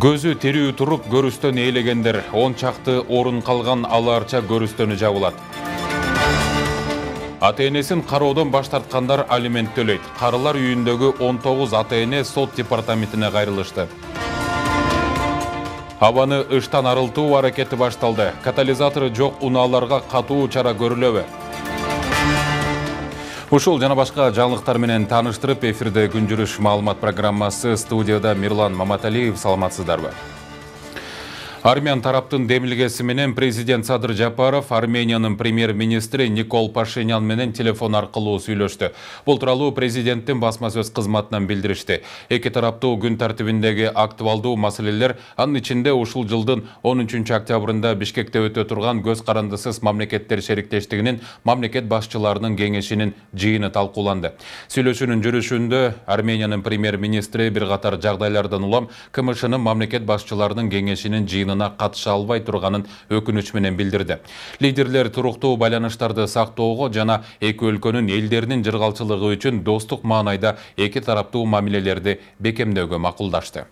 Көзү терүү туруп көрүстөн ээлегендер 10 чакты орун калган алаарча көрүстөнү жабылат. Ата-энесин кароодон баш тарткандар алимент төлөйт. Карылар үйүндөгү 19 ата-эне сот департаментине кайрылышты. Абаны ыштан арылтуу аракети башталды. Катализатору жок унааларга катуу чара көрүлөбү? Ушул жана башка жаңылыктар менен тааныштырып, эфирде күн жүрүш маалымат программасы, студияда Мирлан Маматалиев. Саламатсыздарбы? Армян тараптын демилгеси менен президент Садыр Жапаров Армениянын премьер-министри Никол Пашинян менен телефон аркылуу сүйлөштү. Бул тууралуу президенттин басма сөз кызматынан билдиришти. Эки тараптуу күн тартибиндеги актуалдуу маселелер, анын ичинде ушул жылдын 13 октябрында Бишкекте өтө турган көз карандысыз мамлекеттер шериктештигинин мамлекет башчыларынын кеңешинин жыйыны талкууланды. Сүйлөшүүнүн жүрүшүндө Армениянын премьер-министри бир катар жагдайлардан улам КМШнын мамлекет башчыларынын кеңешинин жыйынына катыша албай турганын өкүнүч менен билдирди. Лидерлер туруктуу байланыштарды сактоого жана эки өлкөнүн элдеринин жыргалчылыгы үчүн достук маанайда эки тараптуу мамилелерди бекемдөөгө макулдашты.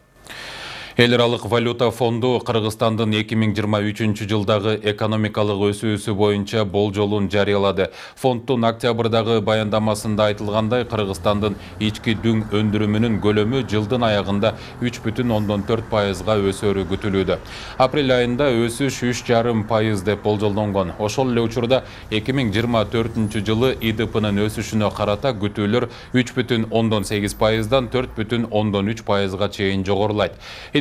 Эл аралык валюта фонду Кыргызстандын 2023 жылдагы экономикалык өсүүсү боюнча болжолун жарыялады. Фонддун октябрдагы баяндамасында айтылгандай, Кыргызстандын ички дүң өндүрүмүнүн көлөмү жылдын аягында 3,4%га өсөрү күтүлүүдө. Апрель айында өсүш 3,5% деп болжолдонгон. Ошол эле учурда 2024 жылы ИДПнын өсүшүнө карата күтүүлөр 3,8%дан 4,3%га чейин жогорулайт.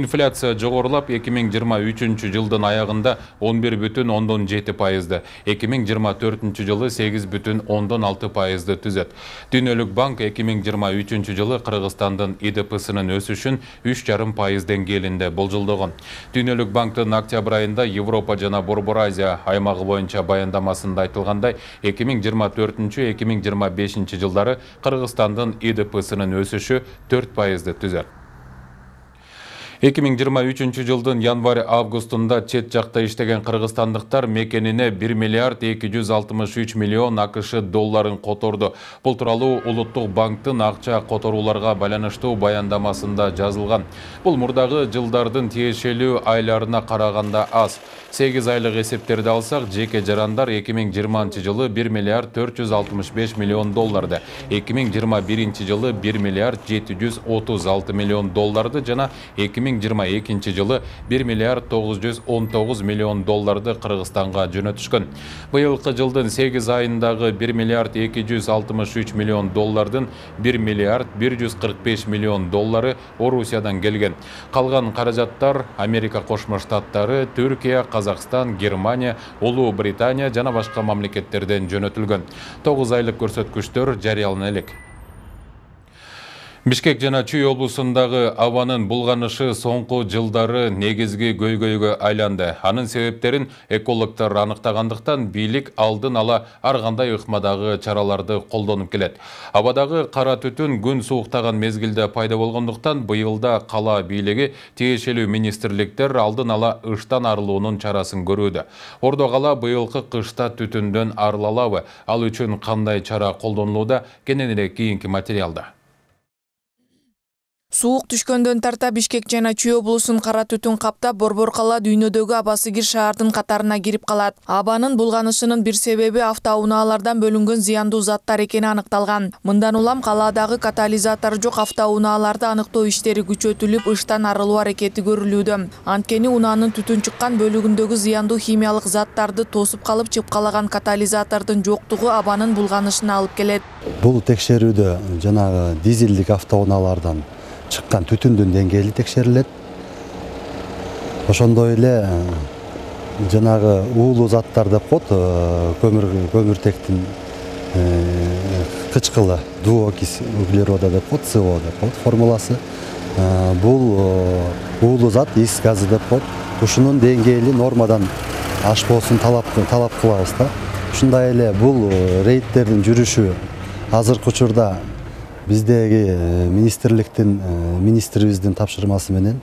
Инфляция жогорулап 2023 жылдын аягында 11,7%, 2024 жылы 8,6%ды түзөт. Дүйнөлүк банк 2023 жылы Кыргызстандын ИДПсынын өсүшүн 3,5% деңгээлинде болжолдогон. Дүйнөлүк банктын октябрь айында Европа жана Борбор Азия аймагы боюнча баяндамасында айтылгандай, 2024-2025 жылдары Кыргызстандын ИДПсынын өсүшү 4%ды түзөт. 2023 жылдын январь-августунда чет жакта иштеген кыргызстандыктар мекенине 1 миллиард 263 миллион АКШ долларын которду. Бул тууралуу Улуттук банктын акча которууларга байланыштуу баяндамасында жазылган. Бул мурдагы жылдардын тиешелүү айларына караганда аз. 8 айлык эсептерди алсак, жеке жарандар 2020 жылы 1 миллиард 465 миллион долларды, 2021 жылы 1 миллиард 736 миллион долларды жана 2022 жылы 1 миллиард 919 миллион долларды Кыргызстанга жөнөтүшкөн. Быйылкы жылдын 8 айындагы 1 миллиард 263 миллион доллардын 1 миллиард 145 миллион доллары Орусиядан келген. Калган каражаттар Америка Кошмо Штаттары, Түркия, Казакстан, Германия, Улуу Британия жана башка мамлекеттерден жөнөтүлгөн. 9 айлык көрсөткүчтөр жарыялана элек. Бишкек жана Чүй облусундагы абанын булганышы соңку жылдары негизги көйгөйгө айланды. Анын себептерин экологдор аныктагандыктан бийлик алдын ала ар кандай ыкмадагы чараларды колдонуп келет. Абадагы кара түтүн күн сууктаган мезгилде пайда болгондуктан быйылда кала бийлиги тиешелүү министрликтер алдын ала ыштан арылуунун чарасын көрүүдө. Ордо кала быйылкы кышта түтүндөн арыла алабы? Ал үчүн кандай чара колдонулууда? Кененирээк кийинки материалда. Суук түшкөндөн тарта Бишкек жана Чүй облусун кара түтүн каптап, Борбор кала дүйнөдөгү абасыгир шаардын катарына кирип калат. Абанын булганышынын бир себеби автоунаалардан бөлүнгөн зыяндуу заттар экени аныкталган. Мындан улам калаадагы катализатору жок автоунааларды аныктоо иштери күчөтүлүп, ыштан арылуу аракети көрүлүүдө. Анткени унаанын түтүн чыккан бөлүгүндөгү зыяндуу химиялык заттарды тосуп калып чыпкалаган катализатордун жоктугу абанын булганышына алып келет. Бул текшерүүдө жанагы дизелдик автоунаалардан чыккан түтүндүн деңгээли текшерилет. Ошондой эле жанагы уулуу заттар деп коет, көмүртектин кычкылы дуокись углерода деп коет, СО деп коет формуласы. Бул уулуу зат, ис газы деп коет. Ушунун деңгээли нормадан ашпоосун талап кылабыз да. Ушундай эле бул рейдтердин жүрүшү азыркы учурда биздеги министрибиздин тапшырмасы менен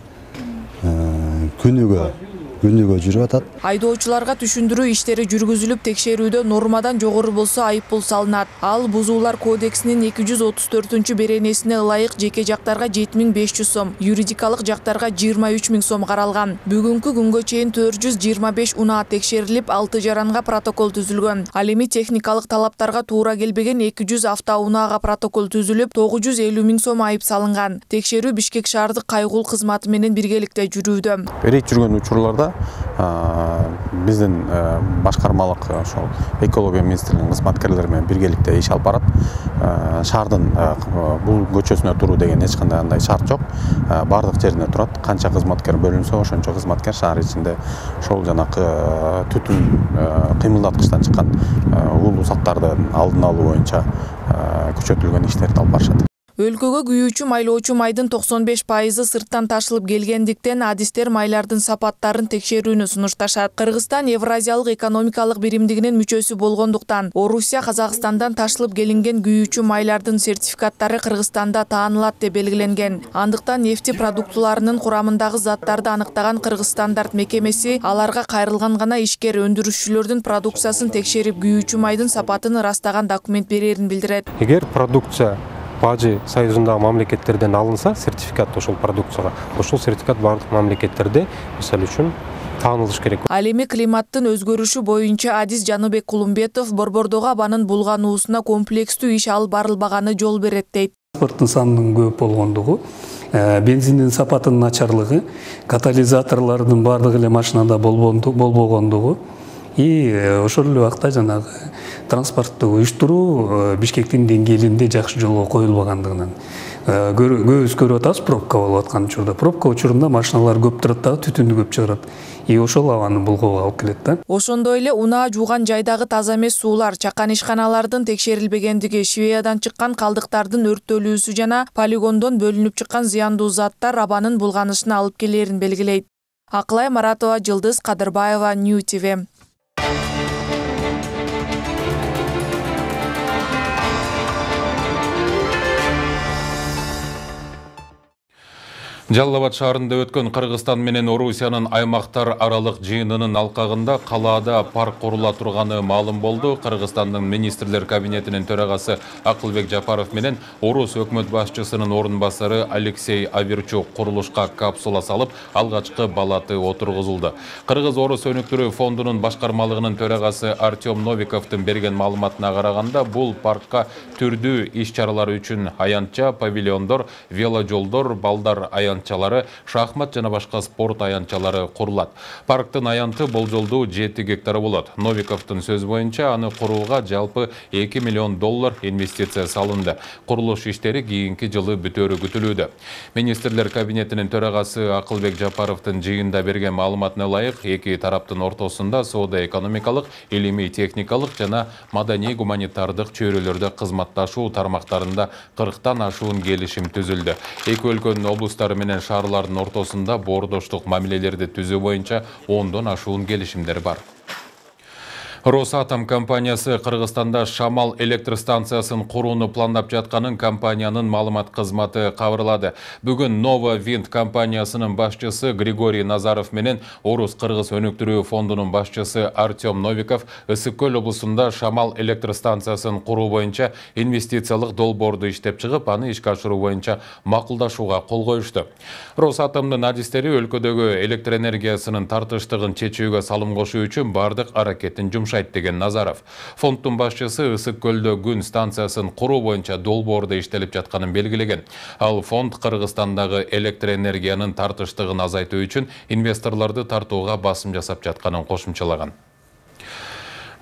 күнүгө жүрүп атат. Айдоочуларга түшүндүрүү иштери жүргүзүлүп, текшерүүдө нормадан жогору болсо айыппул салынат. Ал Бузуулар кодексинин 234-беренесине ылайык жеке жактарга 7500 сом, юридикалык жактарга 23000 сом каралган. Бүгүнкү күнгө чейин 425 унаа текшерилип, 6 жаранга протокол түзүлгөн. Ал эми техникалык талаптарга туура келбеген 200 автоунаага протокол түзүлүп, 950 000 сом айып салынган. Текшерүү Бишкек шаардык кайгул кызматы менен биргеликте жүрүүдө. Эрейт жүргөн учурларда биздин башкармалык ошол экология министрлигинин кызматкерлери менен биргеликте иш алып барат. Шаардын бул көчөсүнө туруу деген эч кандай андай шарт жок. Бардык жерине турат. Канча кызматкер бөлүнсө, ошончо кызматкер шаар ичинде ошол жанакы түтүн кыймылдаткычтан чыккан уулуу заттардын алдын алуу боюнча күчөтүлгөн иштерди алып барышат. Өлкөгө күйүүчү майлоочу майдын 95% сырттан ташылып келгендиктен адистер майлардын сапаттарын текшерүүнү сунушташат. Кыргызстан Евразиялык экономикалык биримдигинин мүчөсү болгондуктан, Орусия Казакстандан ташылып келинген күйүүчү майлардын сертификаттары Кыргызстанда таанылат деп белгиленген. Андыктан нефти продуктуларынын курамындагы заттарды аныктаган Кыргыз стандарт мекемеси аларга кайрылган гана ишкер өндүрүшчүлөрдүн продукциясын текшерип, күйүүчү майдын сапатын ырастаган документ берерин билдирет. Эгер продукция Бажы союзундагы мамлекеттерден алынса, сертификат ошол продукцияга, ошол сертификат бардык мамлекеттерде мисалы үчүн таанылыш керек. Ал эми климаттын өзгөрүшү боюнча адис Жаныбек Кулумбетов Борбордогу абанын булгануусуна комплекстүү иш алып барылбаганы жол берет дейт. Транспорттун санынын көп болгондугу, бензиндин сапатынын начарлыгы, катализаторлордун бардыгы эле машинада болбогондугу, ошол эле убакта жанагы транспортту уюштуруу Бишкектин деңгээлинде жакшы жолго коюлбагандыгынан көбүбүз көрүп атабыз, пробка болуп аткан учурда. Пробка учурунда машиналар көп турат дагы, түтүндү көп чыгарат. Ошол абаны булгоого алып келет да. Ошондой эле унаа жууган жайдагы таза эмес суулар, чакан ишканалардын текшерилбегендиги, Швеядан чыккан калдыктардын өрттөлүүсү жана полигондон бөлүнүп чыккан зыяндуу заттар абанын булганышына алып келерин белгилейт. Акылай Маратова, Жылдыз Кадырбаева, New TV. Жалал Абад шаарында өткөн Кыргызстан менен Орусиянын аймактар аралык жыйынынын алкагында калаада парк курула турганы маалым болду. Кыргызстандын министрлер кабинетинин төрагасы Акылбек Жапаров менен Орус өкмөт башчысынын орун басары Алексей Аверчук курулушка капсула салып, алгачкы балаты отургузулду. Кыргыз-Орус өнүктүрүү фондунун башкармалыгынын төрагасы Артем Новиковдун берген маалыматына караганда, бул паркка түрдүү иш-чаралар үчүн аянтча, павильондор, веложолдор, балдар аянтчалары, шахмат жана башка спорт аянтчалары курулат. Парктын аянты болжолдуу 7 гектар болот. Новиковдун сөз боюнча, аны курууга жалпы $2 миллион инвестиция салынды. Курулуш иштери кийинки жылы бүтөөрү күтүлүүдө. Министрлер кабинетинин төрагасы Акылбек Жапаровдун жыйында берген маалыматына ылайык, эки тараптын ортосунда соода-экономикалык, илимий-техникалык жана маданий-гуманитардык чөйрөлөрдө кызматташуу тармактарында 40тан ашуун келишим түзүлдү. Эки өлкөнүн облустары менен шаарлардын ортосунда боордоштук мамилелерди түзүү боюнча 10дон ашуун келишимдер бар. Росатом компаниясы Кыргызстанда Шамал электр станциясын курууну пландап жатканын компаниянын маалымат кызматы кабарлады. Бүгүн Nova Wind компаниясынын башчысы Григорий Назаров менен Орус Кыргыз өнүктүрүү фондунун башчысы Артем Новиков Ысык Көл облусунда Шамал электр станциясын куруу боюнча инвестициялык долбоорду иштеп чыгып, аны ишке ашыруу боюнча макулдашууга кол коюшту. Росатомдун адистери өлкөдөгү электр энергиясынын тартыштыгын чечүүгө салым кошуу үчүн бардык аракетин деген Назаров. Фонддун башчысы Ысык Көлдө күн станциясын куруу боюнча долбоордо иштелип жатканын белгилеген. Ал фонд Кыргызстандагы электр энергиянын тартыштыгын азайтуу үчүн инвесторлорду тартууга басым жасап жатканын кошумчалаган.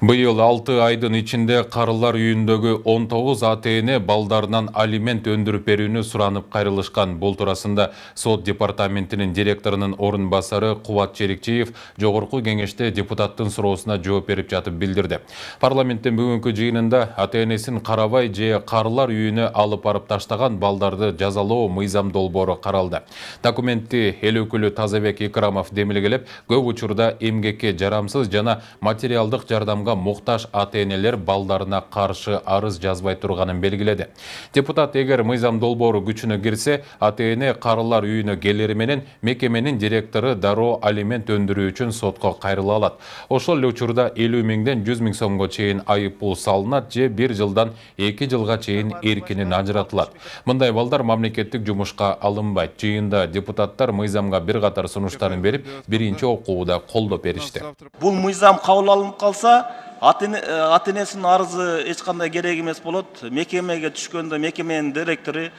Быйыл 6 айдын ичинде Карылар үйүндөгү 19 ата-эне балдарынан алимент өндүрүп берүүнү суранып кайрылышкан. Бул туурасында сот департаментинин директорунун орун басары Кубат Черикчиев жогорку кеңеште депутаттын суроосуна жооп берип жатып билдирди. Парламенттин бүгүнкү жыйынында ата-энесин карабай же Карылар үйүнө алып барып таштаган балдарды жазалоо мыйзам долбоору каралды. Документти эл өкүлү Тазабек Икрамов демилгелеп, көп учурда эмгекке жарамсыз жана материалдык жардамга мыйзамга муктаж ата-энелер балдарына каршы арыз жазбай турганын белгиледи. Депутат эгер мыйзам долбоору күчүнө кирсе, ата-эне карылар үйүнө келери менен мекеменин директору дароо алимент өндүрүү үчүн сотко кайрыла алат. Ошол эле учурда 50 миңден 100 миң сомго чейин айып пул салынат же 1 жылдан 2 жылга чейин эркинен ажыратылат. Мындай балдар мамлекеттик жумушка алынбайт. Жыйында депутаттар мыйзамга бир катар сунуштарын берип, биринчи окууда колдоп беришти. Бул мыйзам кабыл алынып калса, ата-энесинин арызы эч кандай керек эмес болот. Мекемеге түшкөндө мекеменин директору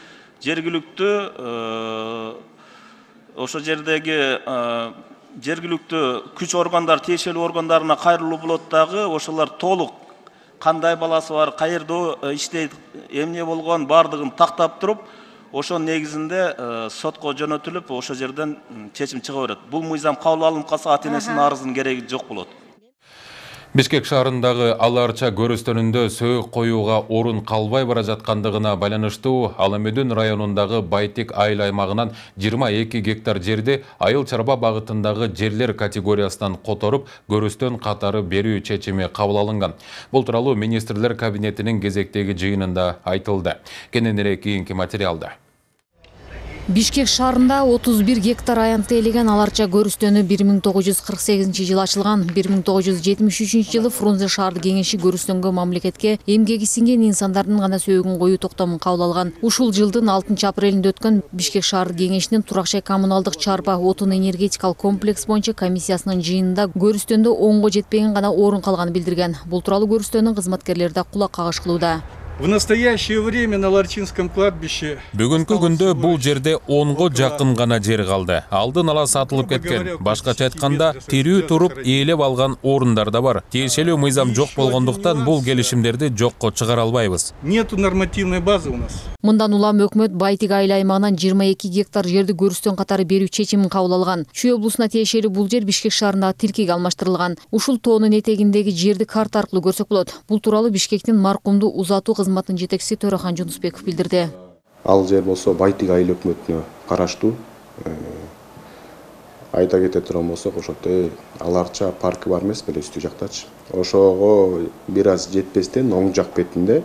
жергиликтүү ошо жердеги жергиликтүү күч органдар, тиешелүү органдарына кайрылуу болот дагы, ошолор толук кандай баласы бар, каерде иштейт, эмне болгон бардыгын тактап туруп, ошонун негизинде сотко жөнөтүлүп, ошол жерден чечим чыга берет. Бул мыйзам кабыл алынып калса, ата-энесинин арызынын кереги жок болот. Бишкек шаарындагы Аларча көрүстөнүндө сөөк коюуга орун калбай бара жаткандыгына байланыштуу Аламөдүн районундагы Байтик айыл аймагынан 22 гектар жерди айыл чарба багытындагы жерлер категориясынан которуп, көрүстөн катары берүү чечими кабыл алынган. Бул тууралуу министрлер кабинетинин кезектеги жыйынында айтылды. Кененирээк кийинки материалда. Бишкек шаарында 31 гектар аянтты ээлеген Аларча көрүстөнү 1948 жылы ачылган. 1973 жылы Фрунзе шаардык кеңеши көрүстөнгө мамлекетке эмгеги сиңген инсандардын гана сөөгүн коюу токтомун кабыл алган. Ушул жылдын 6 апрелинде өткөн Бишкек шаардык кеңешинин турак жай коммуналдык чарба отун энергетикалык комплекс боюнча комиссиясынын жыйынында көрүстөндө 10го жетпеген гана орун калганын билдирген. Бул тууралуу көрүстөнүн кызматкерлери да кулак кагыш кылууда. В настоящее время на Ларчинском кладбище Бүгүнкү күндө бул жерде 10го жакын гана жер калды. Алдын ала сатылып кеткен. Башкача айтканда, тирүү туруп ээлеп алган орундар да бар. Тиешелүү мыйзам жок болгондуктан бул келишимдерди жокко чыгара албайбыз. Нету нормативной базы у нас. Мындан улам өкмөт Байтик айыл аймагынан 22 гектар жерди көрүстөн катары берүү чечимин кабыл алган. Чүй облусуна тиешелүү бул жер Бишкек шаарындагы тилкеге алмаштырылган. Ушул тоонун этегиндеги жерди карта аркылуу көрсөк болот. Бул тууралуу Бишкектин маркумду узатуу кызматынын жетекчиси Төрахан Жунусбеков билдирди. Ал жер болсо Байтик айыл өкмөтүнө караштуу. Айта кете турган болсок, ошол Аларча паркы бар эмес беле үстү жактачы. Ошого бир аз жетпестен оң жак бетинде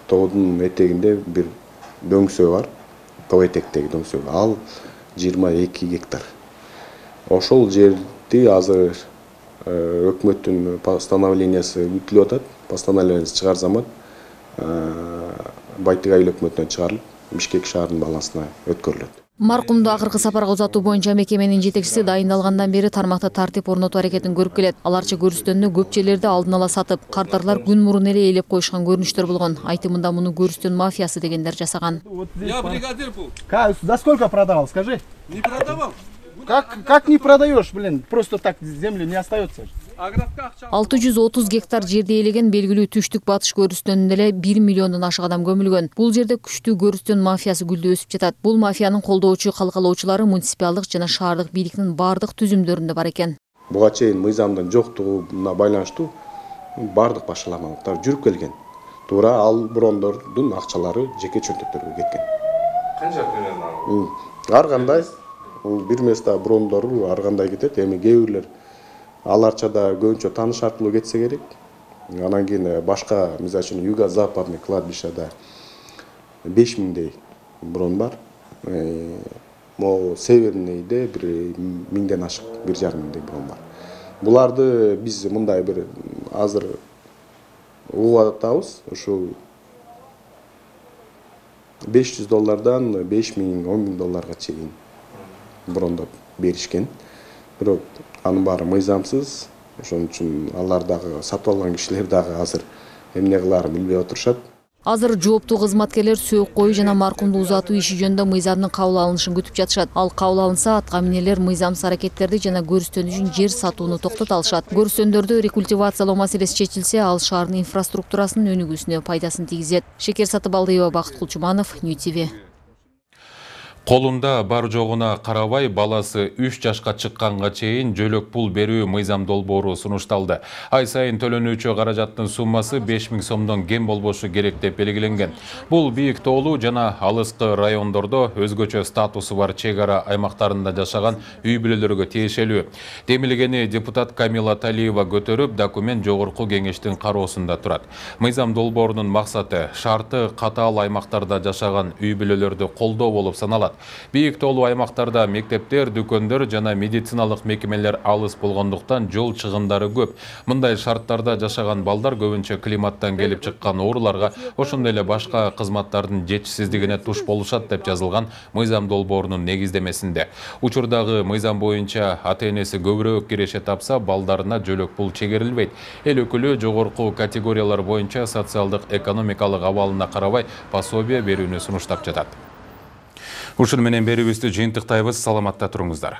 тоодун этегинде бир дөңсөө бар. Тоо этектеги дөңсөө. Ал 22 гектар. Ошол жерди азыр өкмөттүн постановлениясы күтүлүп атат. Постановлениясы чыгар замат Байтик айыл өкмөтүнөн чыгарылып, Бишкек шаарынын балансына өткөрүлөт. Маркумду акыркы сапарга узатуу боюнча мекеменин жетекчиси дайындалгандан бери тармакта тартип орнотуу аракетин көрүп келет. Аларча көрүстөнүнө көп жерлерди алдын ала сатып, кардарлар күн мурун эле ээлеп коюшкан көрүнүштөр болгон. Айтымында муну көрүстөн мафиясы дегендер жасаган. Я бригадир был. За сколько продавал, скажи? Не продавал. Как не продаешь, блин? Просто так земли не остается. 630 гектар жерди ээлеген белгилүү түштүк батыш көрүстөнүндө эле 1 миллиондон ашык адам көмүлгөн. Бул жерде күчтүү көрүстөн мафиясы гүлдөө өсүп жатат. Бул мафиянын колдоочу калкалоочулары муниципалдык жана шаардык бийликтин бардык түзүмдөрүндө бар экен. Буга чейин мыйзамдын жоктугуна байланыштуу бардык башаламалыктар жүрүп келген. Туура ал брондордун акчалары жеке чөнтөктөргө кеткен. Канча примерно? Ар кандай бир места брондору ар кандай кетет. Эми кээ бирлер Аларчада көбүнчө тааныш аркылуу кетсе керек. Анан кийин башка, мисалы үчүн юго-западный кладбищада 5000дей брон бар. Могу северныйде бир 1000ден ашык, 1,5 миңдей брон бар. Буларды биз мындай бир азыр угуп атабыз. Ушул $500 5000, $10,000 чейин брондоп беришкен. Бирок анын баары мыйзамсыз. Ошон үчүн алар дагы сатып алган кишилер дагы азыр эмне кылаарын билбей отурушат. Азыр жооптуу кызматкерлер сөөк коюу жана маркумду узатуу иши жөнүндө мыйзамдын кабыл алынышын күтүп жатышат. Ал кабыл алынса, атка минелер мыйзамсыз аракеттерди жана көрүстөн үчүн жер сатууну токтото алышат. Көрүстөндөрдү рекультивациялоо маселеси чечилсе, ал шаардын инфраструктурасынын өнүгүүсүнө пайдасын тийгизет. Шекер Сатыбалдыева, Бакыт Кулчуманов, Нью ТВ. Колунда бар жогуна карабай баласы 3 жашка чыкканга чейин жөлөк пул берүү мыйзам долбоору сунушталды. Ай сайын төлөнүүчү каражаттын суммасы 5000 сомдон кем болбошу керек деп белгиленген. Бул бийик тоолуу жана алыскы райондордо өзгөчө статусу бар чек ара аймактарында жашаган үй бүлөлөргө тиешелүү. Демилгени депутат Камила Талиева көтөрүп, документ жогорку кеңештин кароосунда турат. Мыйзам долбоорунун максаты шарты катаал аймактарда жашаган үй бүлөлөрдү колдоо болуп саналат. Бийик тоолуу аймактарда мектептер, дүкөндөр жана медициналык мекемелер алыс болгондуктан жол чыгымдары көп. Мындай шарттарда жашаган балдар көбүнчө климаттан келип чыккан ооруларга, ошондой эле башка кызматтардын жетишсиздигине туш болушат деп жазылган мыйзам долбоорунун негиздемесинде. Учурдагы мыйзам боюнча ата-энеси көбүрөөк киреше тапса, балдарына жөлөк пул чегерилбейт. Эл өкүлү жогорку категориялар боюнча социалдык экономикалык абалына карабай пособие берүүнү сунуштап жатат. Ушун менен берүүбүздү жыйынтыктайбыз. Саламатта туруңуздар.